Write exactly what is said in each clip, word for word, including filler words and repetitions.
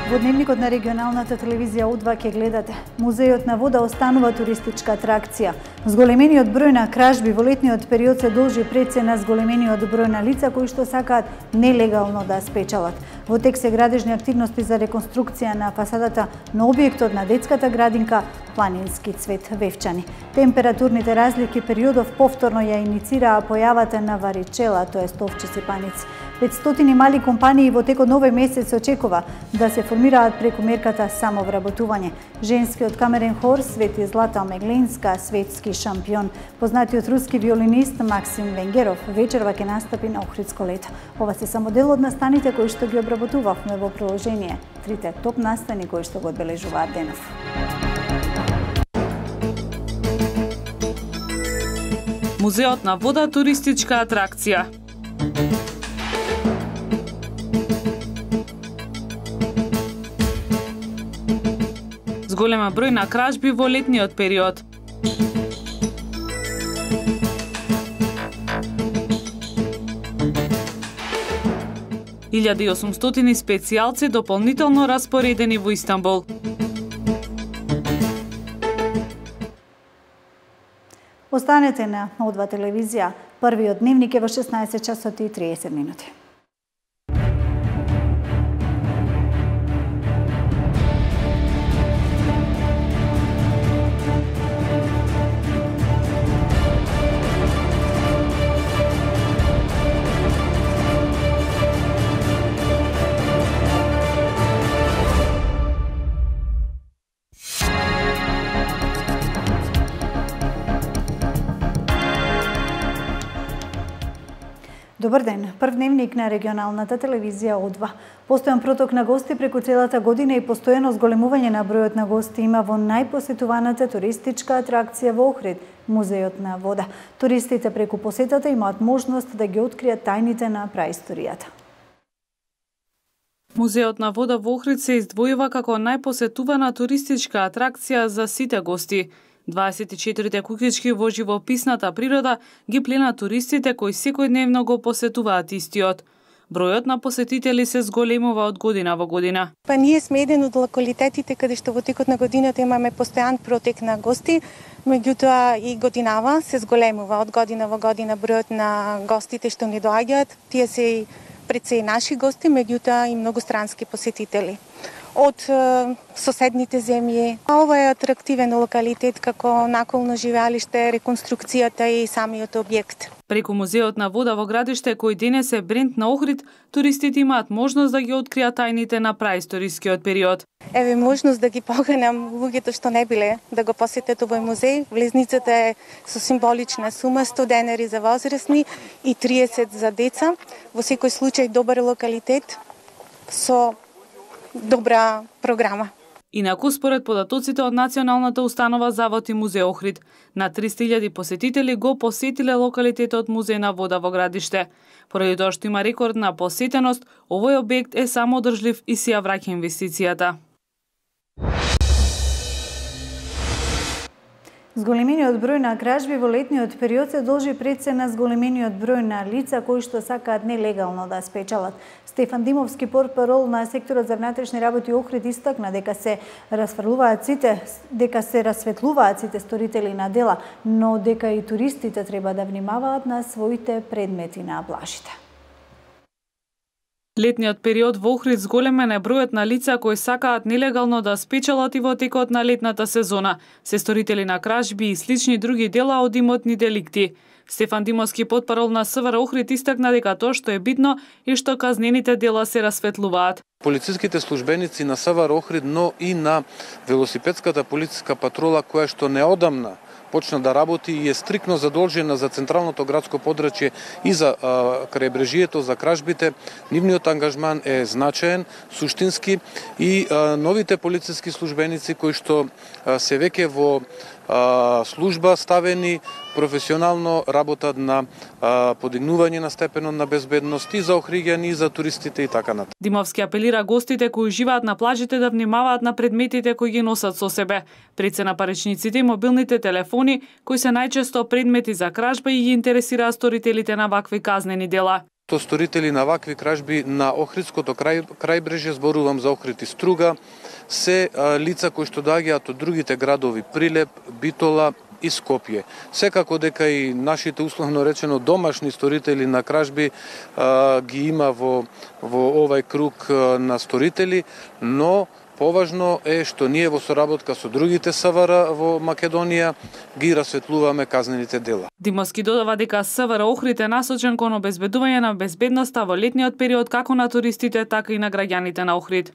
Во дневникот на регионалната телевизија О два ќе гледате. Музејот на вода останува туристичка атракција. Зголемениот број на кражби во летниот период се должи пред се на зголемениот број на лица кои што сакаат нелегално да спечалат. Во тек се градежни активности за реконструкција на фасадата на објектот на детската градинка Планински цвет Вевчани. Температурните разлики периодов повторно ја иницираа појавата на варичела, тоест овчи сипаници. петстотини мали компании во текот на овој месец се очекува да се формираат преку мерката самовработување. Женскиот камерен хор свети Злата Омегленска, светски шампион. Познатиот руски виолинист Максим Венгеров вечерва ќе настапи на Охридско лето. Ова се само дел од настаните кои што ги обработувавме во приложение. Трите топ настани кои што го одбележуваат денов. Музеот на вода туристичка атракција. Голема број на кражби во летниот период. илјада и осумстотини специјалци дополнително распоредени во Истанбул. Останете на О два телевизија. Првиот дневник е во шеснаесет часот и триесет минути. Добар ден. Прв дневник на регионалната телевизија О два. Постојан проток на гости преку целата година и постојано зголемување на бројот на гости има во најпосетуваната туристичка атракција во Охрид, Музејот на вода. Туристите преку посетата имаат можност да ги откријат тајните на праисторијата. Музеот на вода во Охрид се издвојува како најпосетувана туристичка атракција за сите гости. дваесет и четири куќички во живописната природа ги плена туристите кои секојдневно го посетуваат истиот. Бројот на посетители се зголемува од година во година. Па ние сме еден од локалитетите каде што во текот на годината имаме постојан протек на гости, меѓутоа и годинава се зголемува од година во година бројот на гостите што ни доаѓаат. Тие се и пред се и наши гости, меѓутоа и многострански посетители од е, соседните земји. Ова е атрактивен локалитет како наколно живеалиште, реконструкцијата и самиот објект. Преку Музеот на вода во градиште, кој денес е бренд на Охрид, туристите имаат можност да ги откријат тајните на праисторискиот период. Еве можност да ги поканам луѓето што не биле да го посетат овој музеј. Влезницата е со символична сума сто денари за возрастни и триесет за деца. Во секој случај добар локалитет со добра програма. Инаку, според податоците од Националната установа Завод и Музеј Охрид, на триста илјади посетители го посетиле локалитетот Музеј на вода во градиште. Поради тоа што има рекордна посетеност, овој објект е самоодржлив и си ја враќа инвестицијата. Зголемениот број на кражби во летниот период се должи пред се на зголемениот број на лица кои што сакаат нелегално да спечалат. Стефан Димовски, портпарол на секторот за внатрешни работи Охрид, истакна дека се расфрлуваат сите, дека се расветлуваат сите сторители на дела, но дека и туристите треба да внимаваат на своите предмети на плажите. Летниот период во Охрид зголемен е бројот на лица кои сакаат нелегално да спечалат и во текот на летната сезона, се сторители на кражби и слични други дела од имотни деликти. Стефан Димовски, портпарол на СВР Охрид, истакна дека тоа што е битно и што казнените дела се расветлуваат. Полициските службеници на СВР Охрид, но и на велосипедската полициска патрола која што неодамна почна да работи и е стрикно задолжена за централното градско подрачје и за а, крајбрежието, за кражбите, нивниот ангажман е значаен, суштински и а, новите полициски службеници кои што а, се веќе во а, служба ставени професионално работат на а, подигнување на степенот на безбедност и за охриѓани, и за туристите и така натаму. Димовски апелира гостите кои живеат на плажите да внимаваат на предметите кои ги носат со себе. Пред се на паричниците и мобилните телефони, кои се најчесто предмети за кражба и ги интересираат сторителите на вакви казнени дела. То сторители на вакви кражби на Охридското крај, крајбрежје, зборувам за Охрид и Струга, се а, лица кои што доаѓаат од другите градови Прилеп, Битола и Скопје. Секако дека и нашите условно речено домашни сторители на кражби а, ги има во, во овај круг а, на сторители, но поважно е што ние во соработка со другите СВР во Македонија ги расветлуваме казнените дела. Димовски додава дека СВР Охрид е насочен кон обезбедување на безбедноста во летниот период како на туристите, така и на граѓаните на Охрид.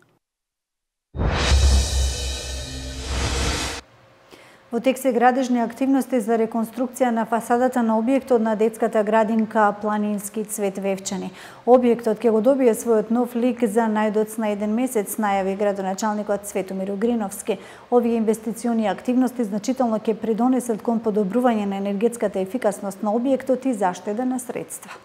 Во тек се градежни активности за реконструкција на фасадата на објектот на детската градинка Планински цвет Вевчани. Објектот ќе го добие својот нов лик за најдоцна еден месец, најави градоначалникот Светомир Угриновски. Овие инвестициони активности значително ќе придонесат кон подобрување на енергетската ефикасност на објектот и заштеда на средства.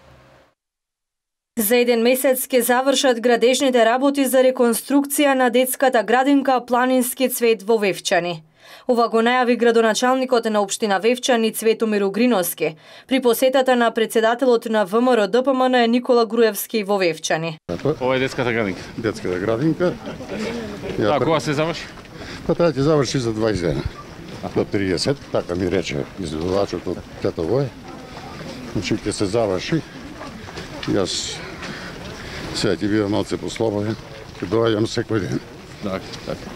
За еден месец ќе завршат градежните работи за реконструкција на детската градинка Планински цвет во Вевчани. Ова го најави градоначалникот на општина Вевчани Светомир Угриновски при посетата на председателот на ВМРО Д П М Н Никола Груевски во Вевчани. Ова е детската градинка. Детската градинка. А кога се заврши? Па треба ќе заврши за дваесет дена. До триесет, така ми рече изведувачот од Тетовој. Значи ќе се заврши. Јас сега ќе бидам малце послободен. Ќе доаѓам секој ден. Така, така.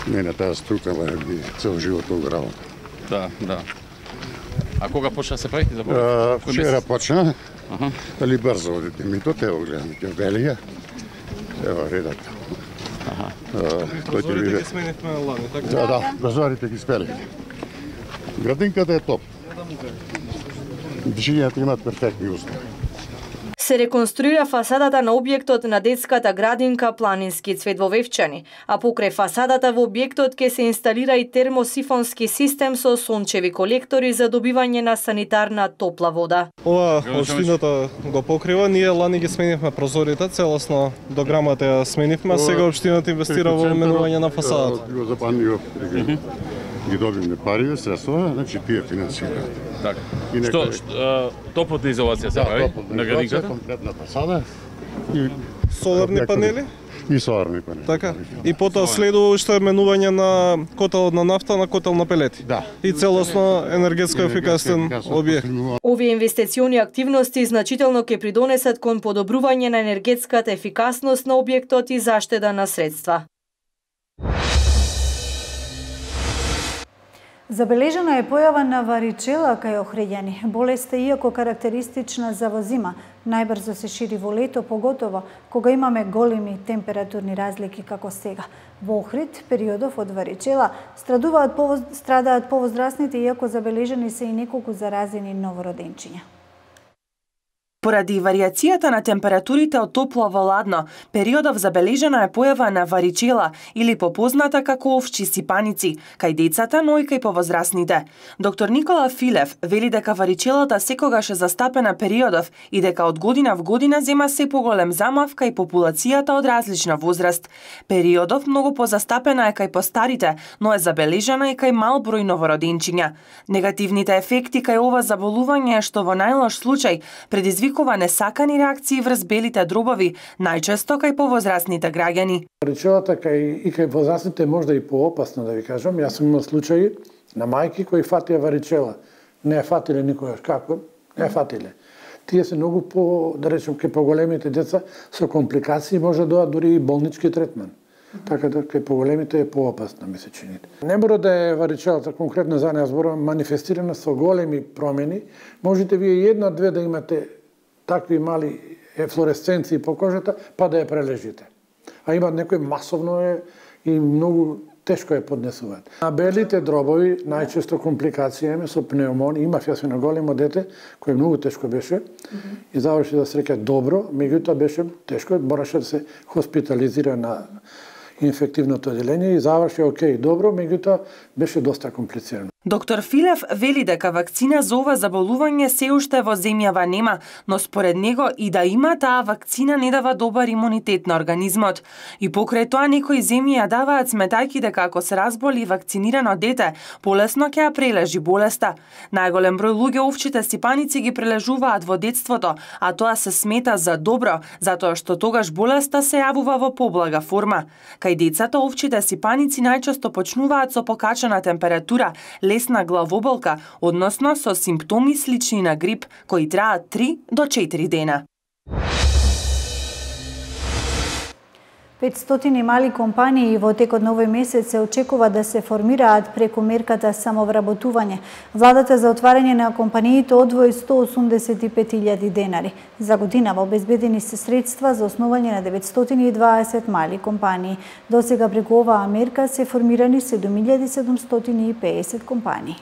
Мене таа струка ме би цел живот го работа. Да, да. А кога почна се прави? А, вчера почна, ага. Али брзо одите ми то, те го гледам, ќе велија. Ева редат. Аха. Прозорите ги сменихме лани, така? Да, да, прозорите ги спелихме. Градинката е топ. Движењето имат перфектни услови. Се реконструира фасадата на објектот на детската градинка Планински цвет во Вевчани, а покрај фасадата во објектот ќе се инсталира и термосифонски систем со сончеви колектори за добивање на санитарна топла вода. Ова општината го покрива, ние лани ги сменивме прозорите, целосно дограмата ја сменивме, а сега општината инвестира во менување на фасадата. Го запанија ги добивме пари, средства, значи тие финансираат. Така. Што, топлотна изолација се прави на градинката? Комплетна фасада и соларни панели? И соларни панели. Така. И потоа следува уште менување на котел на нафта на котел на пелети. Да. И целосно енергетско ефикасен објект. Овие инвестициони активности значително ќе придонесат кон подобрување на енергетската ефикасност на објектот и заштеда на средства. Забележена е појава на варичела кај охриѓани. Болеста, иако карактеристична за во зима, најбрзо се шири во лето, поготово кога имаме големи температурни разлики како сега. Во Охрид, периодов од варичела страдуваат повоз... страдаат повозрасните, иако забележени се и неколку заразени новороденчиња. Поради варијацијата на температурите од топло во ладно, периодов забележена е појава на варичела или попозната како овчи сипаници, кај децата, но и кај повозрасните. Доктор Никола Филев вели дека варичелата секогаш е застапена периодов и дека од година в година зема се поголем замав кај популацијата од различна возраст. Периодов многу позастапена е кај постарите, но е забележена и кај мал број новороденчиња. Негативните ефекти кај ова заболување е што во најлош случај предизвикува несакани реакции врз белите дробови, најчесто кај повозрасните граѓани. Варичелата кај и кај возрастните можда и поопасно, да ви кажам. Јас сум имал случаи на мајки кои фатија варичела. Не ја фатиле никогаш. Како? Не ја фатиле. Тие се многу по, да речем, кај поголемите деца со компликации може да доаѓа дури и болнички третман. Така да кај поголемите е поопасно, ми се чини. Не мора да е варичелата конкретно за неја зборувам манифестирана со големи промени. Можете вие една-две да имате такви мали флуоресценции по кожата, па да ја прележите. А има некои масовно е и многу тешко ја поднесуваат. На белите дробови најчесто компликација има со пнеумон. Имав јас на големо дете кој многу тешко беше mm -hmm. и заврши да среќа добро, меѓутоа беше тешко, мораше да се хоспитализира на инфективното одделение и заврши окей, добро, меѓутоа беше доста комплицирано. Доктор Филев вели дека вакцина за ова заболување се уште во земјава нема, но според него и да има, таа вакцина не дава добар имунитет на организмот. И покрај тоа некои земји ја даваат сметајќи дека ако се разболи вакцинирано дете, полесно ќе ја прележи болеста. Најголем број луѓе овчите сипаници ги прележуваат во детството, а тоа се смета за добро, затоа што тогаш болеста се јавува во поблага форма. Кај децата овчите сипаници најчесто почнуваат со покачена температура, лесна главоболка, односно со симптоми слични на грип, кои траат три до четири дена. петстотини мали компании во текот на овој месец се очекува да се формираат преку мерката самовработување. Владата за отварање на компаниите одвои сто осумдесет и пет илјади денари. За годинава обезбедени се средства за основање на деветстотини и дваесет мали компании. До сега преку оваа мерка се формирани седум илјади седумстотини и пеесет компании.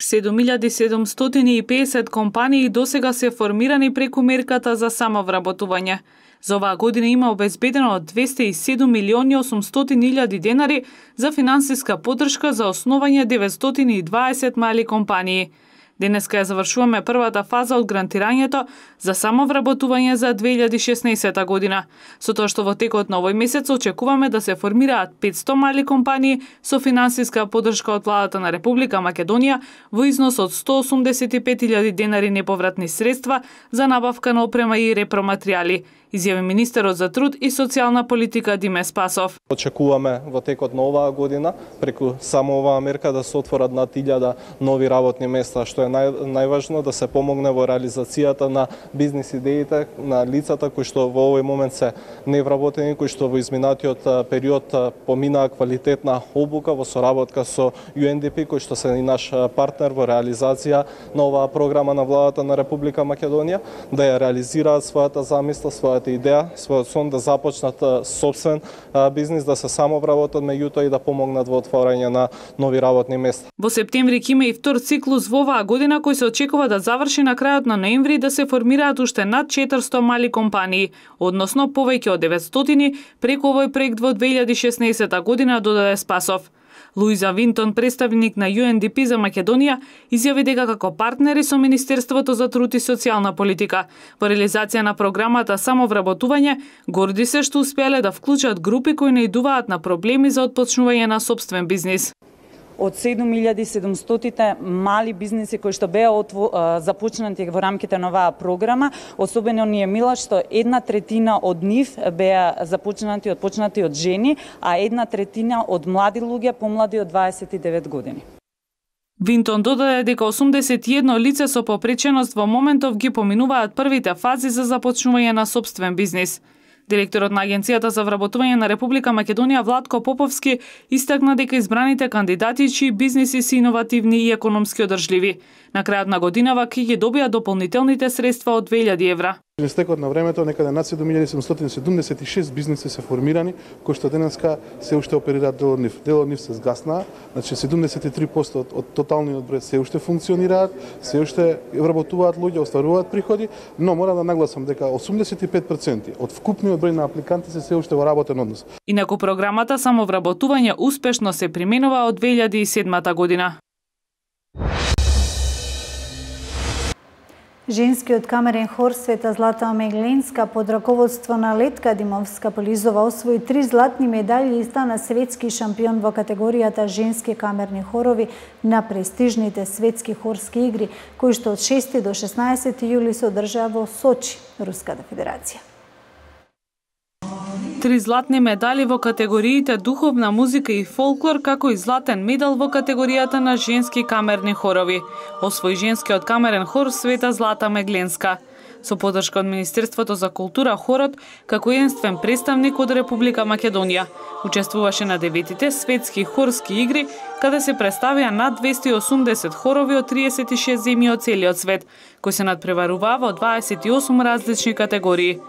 седум илјади седумстотини и пеесет компании досега се формирани преку мерката за самовработување. За оваа година има обезбедено двесте и седум милиони осумстотини илјади денари за финансиска поддршка за основање деветстотини и дваесет мали компании. Денеска ја завршуваме првата фаза од грантирањето за самовработување за две илјади и шеснаесета година, со тоа што во текот на овој месец очекуваме да се формираат петсто мали компании со финансиска поддршка од владата на Република Македонија во износ од сто осумдесет и пет илјади денари неповратни средства за набавка на опрема и репроматеријали, изјави министерот за труд и социјална политика Диме Спасов. Очекуваме во текот на оваа година преку само оваа мерка да се отворат над илјада нови работни места, што е нај, најважно да се помогне во реализацијата на бизнис идеите на лицата кои што во овој момент се невработени, кои што во изминатиот период поминаа квалитетна обука во соработка со Ю Ен Ди Пи, кој што се и наш партнер во реализација на оваа програма на владата на Република Македонија, да ја реализираат својата замисла, својата идеја, својот сон да започнат сопствен бизнис, да се самовработат меѓутоа и да помогнат во отворање на нови работни места. Во септември ќе има и втор циклус во оваа година кој се очекува да заврши на крајот на ноември, да се формираат уште над четиристо мали компании, односно повеќе од деветстотини преку овој проект во две илјади и шеснаесета година, додаде Спасов. Луиза Винтон, представник на Ю Ен Ди Пи за Македонија, изјави дека како партнери со Министерството за труд и социјална политика во реализација на програмата самовработување, горди се што успеале да вклучат групи кои наидуваат на проблеми за отпочнување на сопствен бизнис. Од седум илјади и седумстотини мали бизниси кои што беа започнати во рамките на оваа програма, особено ни е мила што една третина од нив беа започнати отпочнати од жени, а една третина од млади луѓе помлади од дваесет и девет години. Винтон додаде дека осумдесет и едно лице со попреченост во моментов ги поминуваат првите фази за започнување на сопствен бизнис. Директорот на Агенцијата за вработување на Република Македонија Владко Поповски истакна дека избраните кандидати чии бизниси се иновативни и економски одржливи. На крајот на годинава ќе ги добијат дополнителните средства од две илјади евра. Во стекот на времето некаде над седум илјади седумстотини седумдесет и шест бизниси се формирани, кои што денеска се уште оперираат дел од нив. Дел од нив се згаснаа, значи седумдесет и три проценти од, од тоталниот број се уште функционираат, се уште вработуваат луѓе, остваруваат приходи, но мора да нагласам дека осумдесет и пет проценти од вкупниот број на апликанти се се уште во работен однос. Инаку програмата самовработување успешно се применува од две илјади и седмата година. Женскиот камерен хор Света Злата Мегленска под раководство на Летка Димовска-Полизова освои три златни медали и стана светски шампион во категоријата женски камерни хорови на престижните светски хорски игри, кои што од шести до шеснаесети јули се одржаа во Сочи, Руската Федерација. Три златни медали во категориите духовна музика и фолклор, како и златен медал во категоријата на женски камерни хорови. Освои женскиот камерен хор Света Злата Мегленска. Со поддршка од Министерството за култура, хорот, како единствен представник од Република Македонија, учествуваше на деветите светски хорски игри, каде се представија над двесте и осумдесет хорови од триесет и шест земји од целиот свет, кои се надпреваруваа во дваесет и осум различни категории.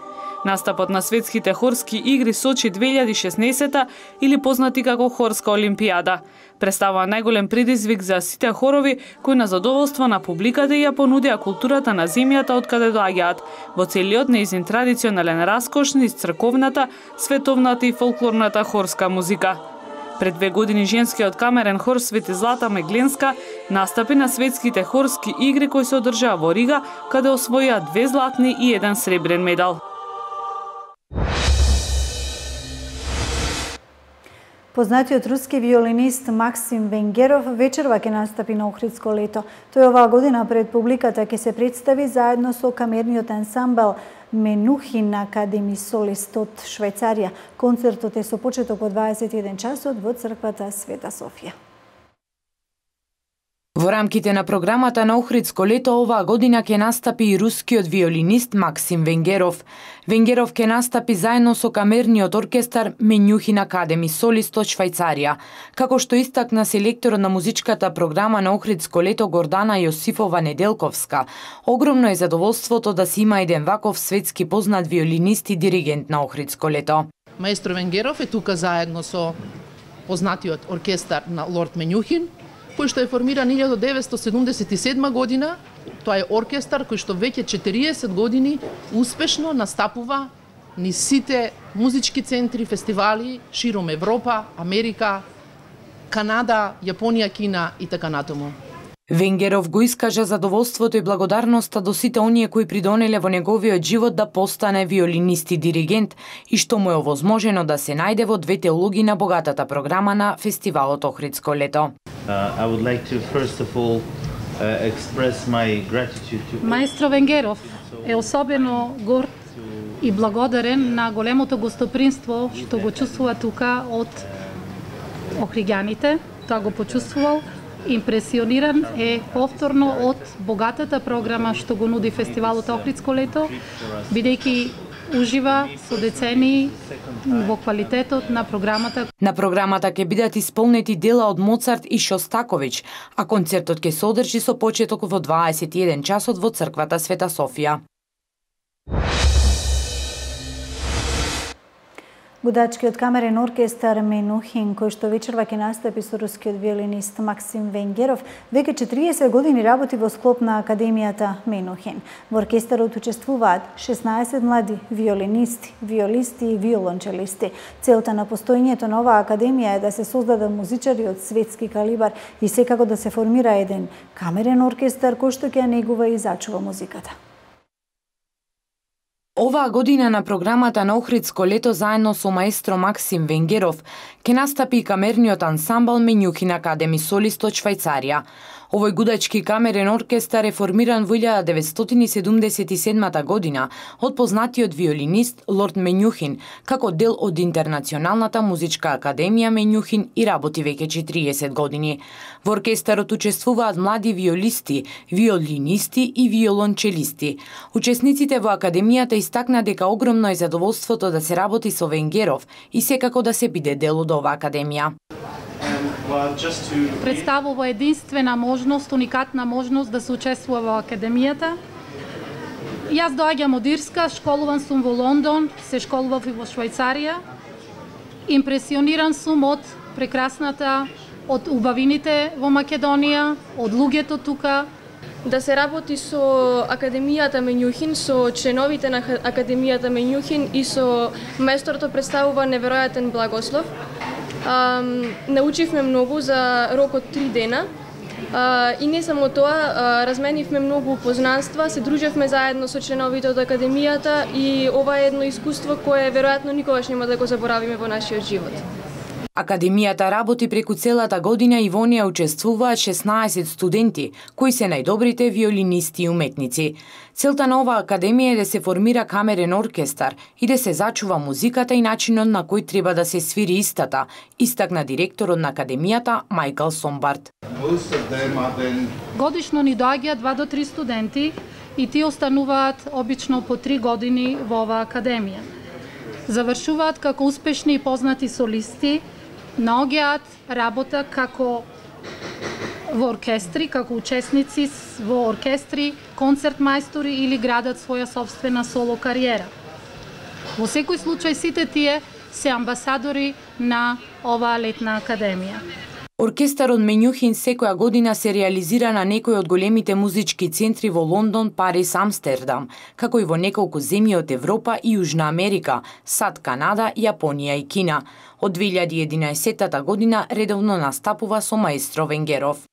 Настапот на светските хорски игри Сочи две илјади и шеснаесета или познати како Хорска олимпијада представува најголем предизвик за сите хорови кои на задоволство на публиката ја понудија културата на земјата од каде доаѓаат во целиот нејзин традиционален раскош низ црковната, световната и фолклорната хорска музика. Пред две години женскиот камерен хор Свети Злата Мегленска настапи на светските хорски игри кои се одржаа во Рига, каде освоија две златни и еден сребрен медал. Познатиот руски виолинист Максим Венгеров вечерва ќе настапи на Охридско лето. Тој оваа година пред публиката ќе се представи заедно со камерниот ансамбл Менухин Академи Солист од Швајцарија. Концертот е со почеток во дваесет и еден часот во црквата Света Софија. Во рамките на програмата на Охридско лето оваа година ќе настапи и рускиот виолинист Максим Венгеров. Венгеров ќе настапи заедно со камерниот оркестар Менухин Академи Солист од Швајцарија. Како што истакна селекторот на музичката програма на Охридско лето Гордана Јосифова Неделковска, огромно е задоволството да се има еден ваков светски познат виолинист и диригент на Охридско лето. Маестро Венгеров е тука заедно со познатиот оркестар на Лорд Менухин, кој што е формиран илјадум деветстотини седумдесет и седма година. Тоа е оркестар кој што веќе четириесет години успешно настапува низ сите музички центри, фестивали широм Европа, Америка, Канада, Јапонија, Кина и така натаму. Венгеров го искажа задоволството и благодарноста до сите оние кои придонеле во неговиот живот да постане виолинист и диригент и што му е овозможено да се најде во двете улоги на богатата програма на фестивалот Охридско лето. Uh, I would like to first of all uh, express my gratitude to Маестро Венгеров е особено горд и благодарен на големото гостопримство што го чувствува тука од охриѓаните. Тоа го почувствувал. Импресиониран е повторно од богатата програма што го нуди фестивалот Охридско лето, бидејќи ужива со децении во квалитетот на програмата. На програмата ќе бидат исполнети дела од Моцарт и Шостакович, а концертот ќе се одржи со почеток во дваесет и еден часот во црквата Света Софија. Гудачкиот камерен оркестар Менухин, кој што вечерва ќе настапи со рускиот виолинист Максим Венгеров, веќе четириесет години работи во склоп на Академијата Менухин. Во оркестарот учествуваат шеснаесет млади виолинисти, виолисти и виолончелисти. Целта на постоењето на оваа академија е да се создадат музичари од светски калибар и секако да се формира еден камерен оркестар кој што ќе ја негува и зачува музиката. Оваа година на програмата на Охридско лето заедно со маестро Максим Венгеров ќе настапи и камерниот ансамбл Менухин Академи Солист од Швајцарија. Овој гудачки камерен оркестар е формиран во илјада деветстотини седумдесет и седмата година од познатиот виолинист Лорд Менухин, како дел од Интернационалната музичка академија Менухин и работи веќе четириесет години. Во оркестарот учествуваат млади виолисти, виолинисти и виолончелисти. Учесниците во академијата истакна дека огромно е задоволството да се работи со Венгеров и секако да се биде дел од оваа академија. Представува единствена можност, уникатна можност да се учествува во академијата. Јас доаѓам од Ирска, школуван сум во Лондон, се школував и во Швајцарија. Импресиониран сум од прекрасната, од убавините во Македонија, од луѓето тука. Да се работи со Академијата Менухин, со членовите на Академијата Менухин и со маесторото представува неверојатен благослов. Um, научивме многу за рок од три дена uh, и не само тоа, uh, разменивме многу познанства, се дружевме заедно со членовите од академијата и ова е едно искуство кое веројатно никогаш нема да го заборавиме во нашиот живот. Академијата работи преку целата година и во неја учествуваат шеснаесет студенти, кои се најдобрите виолинисти и уметници. Целта на оваа академија е да се формира камерен оркестар и да се зачува музиката и начинот на кој треба да се свири истата, истакна директорот на академијата Мајкл Сомбард. Годишно ни доаѓаат два до три студенти и тие остануваат обично по три години во оваа академија. Завршуваат како успешни и познати солисти, наоѓаат работа како во оркестри, како учесници во оркестри, концерт мајстори или градат своја собствена соло кариера. Во секој случај сите тие се амбасадори на оваа летна академија. Оркестарот Менјухин секоја година се реализира на некои од големите музички центри во Лондон, Париз, Амстердам, како и во неколку земји од Европа и Јужна Америка, САД, Канада, Јапонија и Кина. Од две илјади и единаесетта година редовно настапува со маестро Венгеров.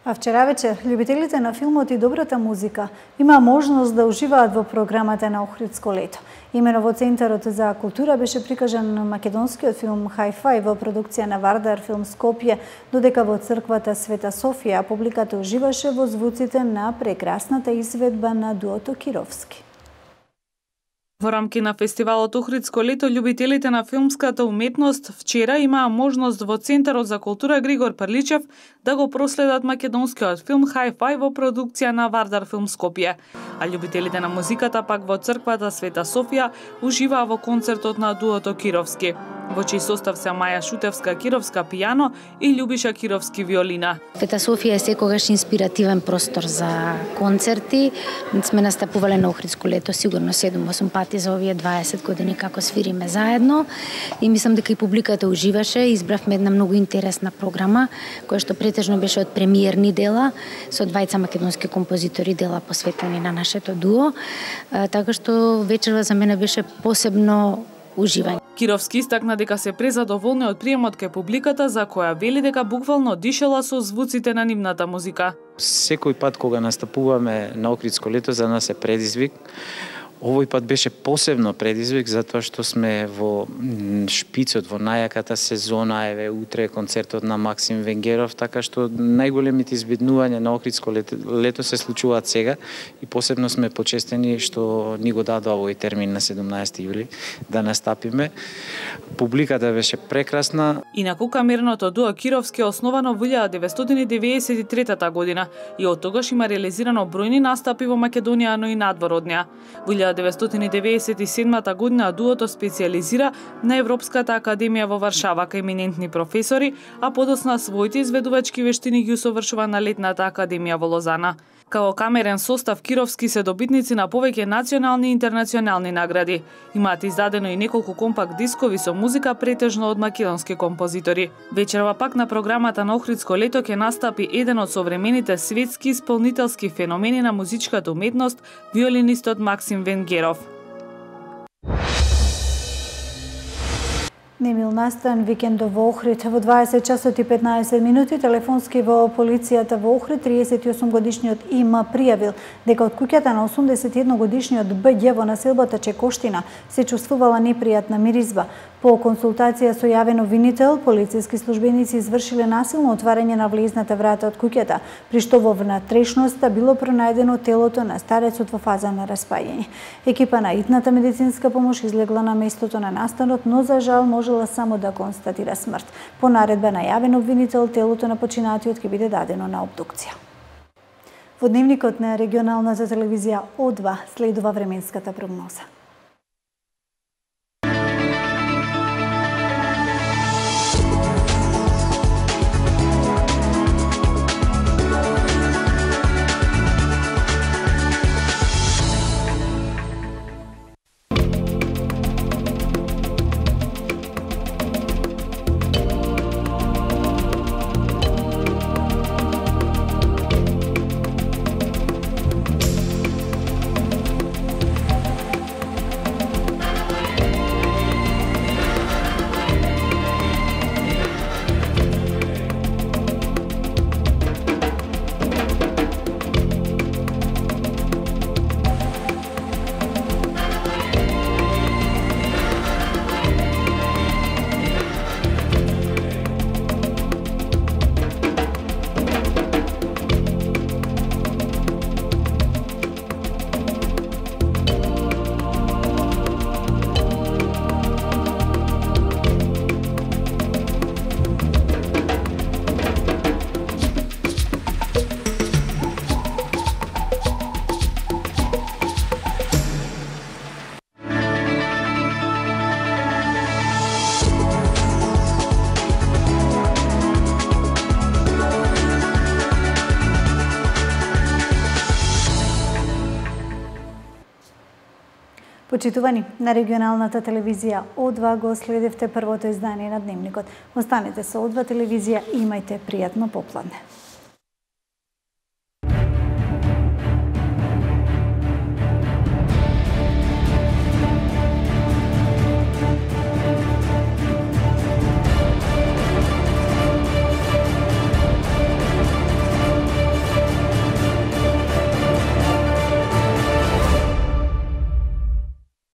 А вчера вечер, љубителите на филмот и добрата музика има можност да уживаат во програмата на Охридско лето. Имено во Центарот за култура беше прикажан македонскиот филм Hi-Fi во продукција на Вардар Филм Скопје, додека во црквата Света Софија публиката уживаше во звуците на прекрасната изведба на дуото Кировски. Во рамки на фестивалот Охридско лето, љубителите на филмската уметност вчера имаа можност во Центарот за култура Григор Прличев да го проследат македонскиот филм Hi-Fi во продукција на Вардар Филм Скопје, а љубителите на музиката пак во црквата Света Софија уживаа во концертот на дуото Кировски, во чиј состав се Маја Шутевска Кировска пијано и Љубиша Кировски виолина. Света Софија е секогаш инспиративен простор за концерти. Сме настапувале на Охридско лето сигурно седум-осум пати за овие дваесет години како свириме заедно и мислам дека и публиката уживаше. Избравме една многу интересна програма која што претежно беше од премиерни дела со двајца македонски композитори, дела посветени на нашето дуо, така што вечерва за мене беше посебно уживање. Кировски истакна дека се презадоволни од приемот кај публиката, за која вели дека буквално дишела со звуците на нивната музика. Секој пат кога настапуваме на Охридско лето за нас е предизвик. Овој пат беше посебно предизвик затоа што сме во шпицот, во најаката сезона, еве утре концертот на Максим Венгеров, така што најголемите избеднувања на Охридско лето, лето се случуваат сега и посебно сме почестени што ни го дадоа овој термин на седумнаесети јули да настапиме. Публиката беше прекрасна. Инаку камерното дуо Кировски е основано во илјада деветстотини деветдесет и трета година и од тогаш има реализирано бројни настапи во Македонија, но и надвор од неа. Во илјада деветстотини деветдесет и седма година дуото специјализира на Европската академија во Варшава кај еминентни професори, а подоцна своите изведувачки вештини ги усовршува на летната академија во Лозана. Као камерен состав Кировски се добитници на повеќе национални и интернационални награди. Имаат издадено и неколку компакт дискови со музика претежно од македонски композитори. Вечерва пак на програмата на Охридско лето ќе настапи еден од современите светски исполнителски феномени на музичката уметност, виолинистот Максим Венгеров. Немил настан викендов во Охрид во дваесет часот и петнаесет минути телефонски во полицијата во Охрид триесет и осум годишниот има пријавил дека од куќата на осумдесет и едно годишниот Б.Ѓ во населбата Чекоштина се чувствувала непријатна миризба. По консултација со јавен обвинител, полициски службеници извршиле насилно отварање на влезната врата од куќата, при што во внатрешноста било пронајдено телото на старецот во фаза на распаѓање. Екипа на итната медицинска помош излегла на местото на настанот, но за жал можела само да констатира смрт. По наредба на јавен обвинител, телото на починатиот ќе биде дадено на обдукција. Во дневникот на регионалната телевизија О два следува временската прогноза. Почитувани, на регионалната телевизија О два го следевте првото издание на Дневникот. Останете со О два телевизија и имајте пријатно попладне.